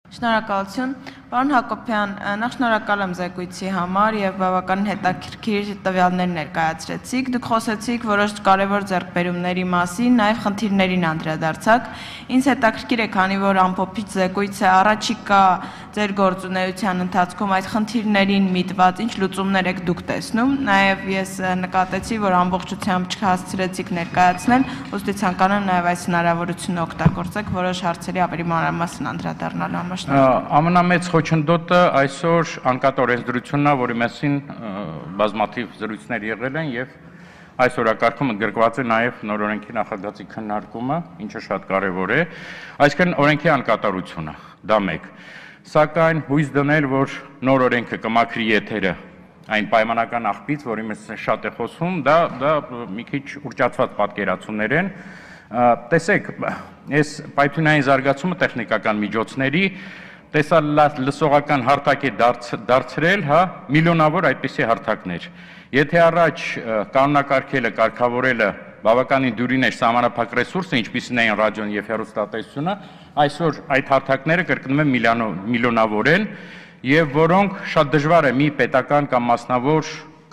Շնորհակալություն, պարոն Հակոբյան, նախ շնորհակալ եմ զեկույցի համար եւ բավականին հետաքրքիր տվյալներ ներկայացրեցիք։ Դուք խոսեցիք որոշ կարևոր ձեռքբերումների մասին, նաեւ խնդիրներին անդրադարձաք։ Ինձ հետաքրքիր է, քանի որ ամփոփիչ զեկույց է, առաջիկա ձեր գործունեության ընթացքում այդ խնդիրներին միտված ինչ լուծումներ եք դուք տեսնում։ Նաեւ ես նկատեցի, որ ամբողջությամբ չհասցրեցիք ներկայացնել, ուստի ցանկանում եմ նաեւ այս հնարավորությունը օգտագործեք որոշ հարցերի ավելի մանրամասն անդրադառնալու համար։ Ամենամեծ խոչընդոտը այսօր անկատ օրենսդրությունն է, որի մասին բազմաթիվ զրույցներ եղել են եւ այս օրակարգում ընդգրկված է նաեւ նոր օրենքի նախագծի քննարկումը, ինչը շատ կարեւոր է, այսինքն օրենքի անկատարությունը, դա մեկ։ Սակայն հույս դնել, որ նոր օրենքը կմաքրի եթերը այն պայմանական աղբից, որի մասին շատ է խոսում, դա մի քիչ ուռճացված պատկերացումներ են։ Տեսեք, այս պայթյունային զարգացումը տեխնիկական միջոցների տեսալսողական հարթակ է դարձրել, միլիոնավոր այդպիսի հարթակներ։ Եթե առաջ կանոնակարգելը, կարգավորելը բավականին դյուրին էր սահմանափակ ռեսուրսը, ինչպիսին էին ռադիոն եւ հեռուստատեսությունը, այսօր այդ հարթակները կրկնում եմ միլիոնավոր են եւ որոնք շատ դժվար է մի պետական կամ մասնավոր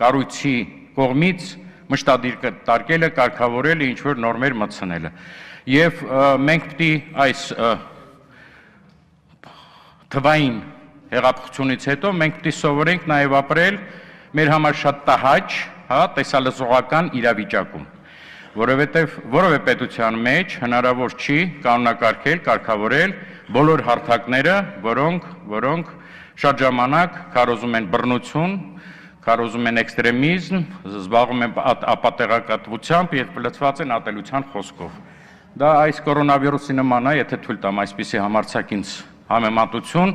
կառույցի կողմից մշտադիր կարգելը, կարգավորելը, ինչ որ նորմեր մտցնելը։ Եվ մենք պետք է այս թվային հեղափոխությունից հետո մենք պետք է սովորենք նաև ապրել մեր համար շատ տհաճ, տեսալսողական իրավիճակում, որովհետև որևէ պետության մեջ հնարավոր չի կանոնակարգել, կարգավորել բոլոր հարթակները, որոնք շատ ժամանակ քարոզում են բռնություն, քարոզում են էքստրեմիզմ, զբաղվում են ապատեղեկատվությամբ եւ լցված են ատելության խոսքով։ Դա այս կորոնավիրուսի նման է, եթե թույլ տամ այսպիսի համարձակ ինձ համեմատություն,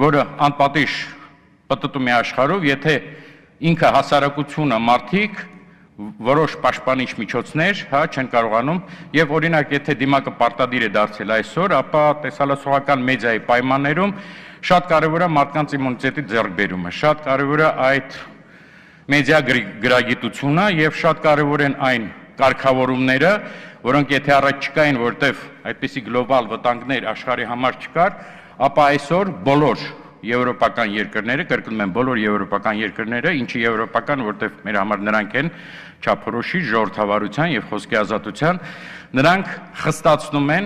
որը անպատիժ պտտում է աշխարհով, եթե ինքը հասարակությունը մարդիկ որոշ պաշտպանիչ միջոցներ, չեն կարողանում եւ օրինակ եթե դիմակը պարտադիր է դարձել այսօր, ապա տեսալսողական մեդիայի պայմաններում շատ կարեւոր է մարդկանց իմունիտետի ձեռքբերումը, շատ կարեւոր է այդ մեդիա գրագիտությունը եւ շատ կարեւոր են այն կարգավորումները, որոնք եթե առաջ չկային, որտեվ այդպիսի գլոբալ վտանգներ աշխարհի համար չկար, ապա այսօր բոլոր եվրոպական երկրները, կրկնում եմ բոլոր եվրոպական երկրները, ինչի եվրոպական, որտեվ մեր համար նրանք են չափորոշի, ժողովրդավարության եւ խոսքի ազատության, նրանք խստացնում են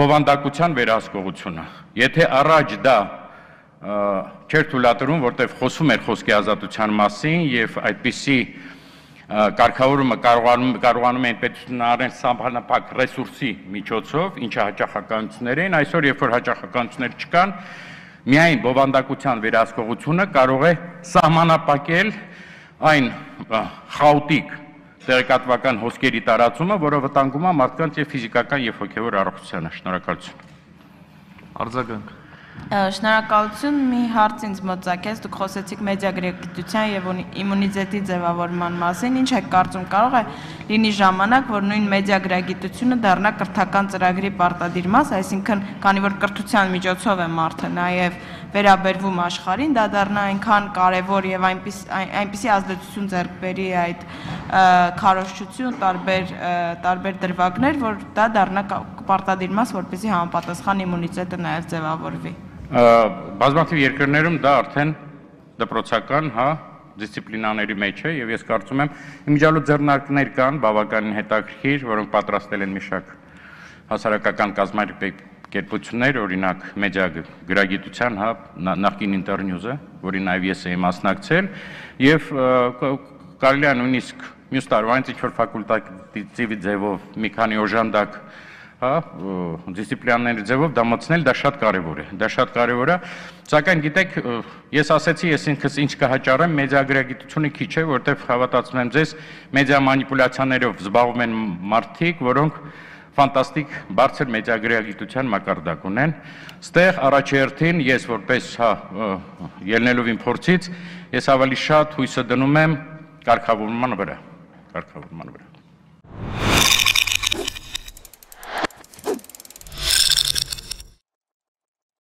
բովանդակության վերահսկողությունը։ Եթե առաջ դա չէր թույլատրում, որտեվ խոսում էր խոսքի ազատության մասին եւ այդպիսի կարգավորումը կարողանում են պետությունները սահմանափակ ռեսուրսի միջոցով, ինչը հաճախականություններ են, այսօր երբ որ հաճախականություններ չկան, միայն բովանդակության վերահսկողությունը կարող է սահմանափակել այն խաոտիկ տեղեկատվական հոսքերի տարածումը, որը վտանգում է մարդկանց եւ ֆիզիկական եւ հոգեվոր առողջությանը։ Շնորհակալություն։ Արձագանք։ Շնորհակալություն, մի հարց ինձ մոծակեց, դուք խոսեցիք մեդիագրագիտության եւ իմունիտետի ձևավորման մասին, ինչ եք կարծում, կարող է լինի ժամանակ, որ նույն մեդիագրագիտությունը դառնա կրթական ծրագրի պարտադիր մաս, այսինքն, քանի որ կրթության միջոցով է մարդը նաեւ վերաբերվում աշխարհին, դա դառնա այնքան կարեւոր եւ այնպիսի ազդեցություն ձեռք բերի այդ քարոզչություն, տարբեր դրվագներ, որ դա դառնա պարտադիր մաս, որպեսզի համապատասխան իմունիտետը նաեւ ձևավորվի։ Բազմաթիվ երկրներում դա արդեն դպրոցական, դիսցիպլինաների մեջ է եւ ես կարծում եմ իմիջիալու ձեռնարկներ կան բավականին հետաքրքիր, որոնք պատրաստել են մի շարք հասարակական կազմակերպություններ, օրինակ մեդիա գրագիտության, նախկին Ինտերնյուզը, որին նաեւ ես եմ մասնակցել եւ կարելի է նույնիսկ մյուս տարվանից ինչ-որ ֆակուլտատիվ ձևով մի քանի օժանդակ դիսցիպլինաների ձևով դա մտցնել, դա շատ կարևոր է, սակայն գիտեք, ես ասեցի, ես ինքս ինչ կհաճարեմ, մեդիագրագիտությունը քիչ է, որտեղ հավատացնում եմ ձեզ, մեդիա մանիպուլյացիաներով զբաղվում են մարդիկ, որոնք ֆանտաստիկ բարձր մեդիագրագիտության մակարդակ ունեն։ Ստեղ առաջերտին ես որպես ելնելով իմ փորձից, ես ավելի շատ հույսը դնում եմ կարգավորման վրա։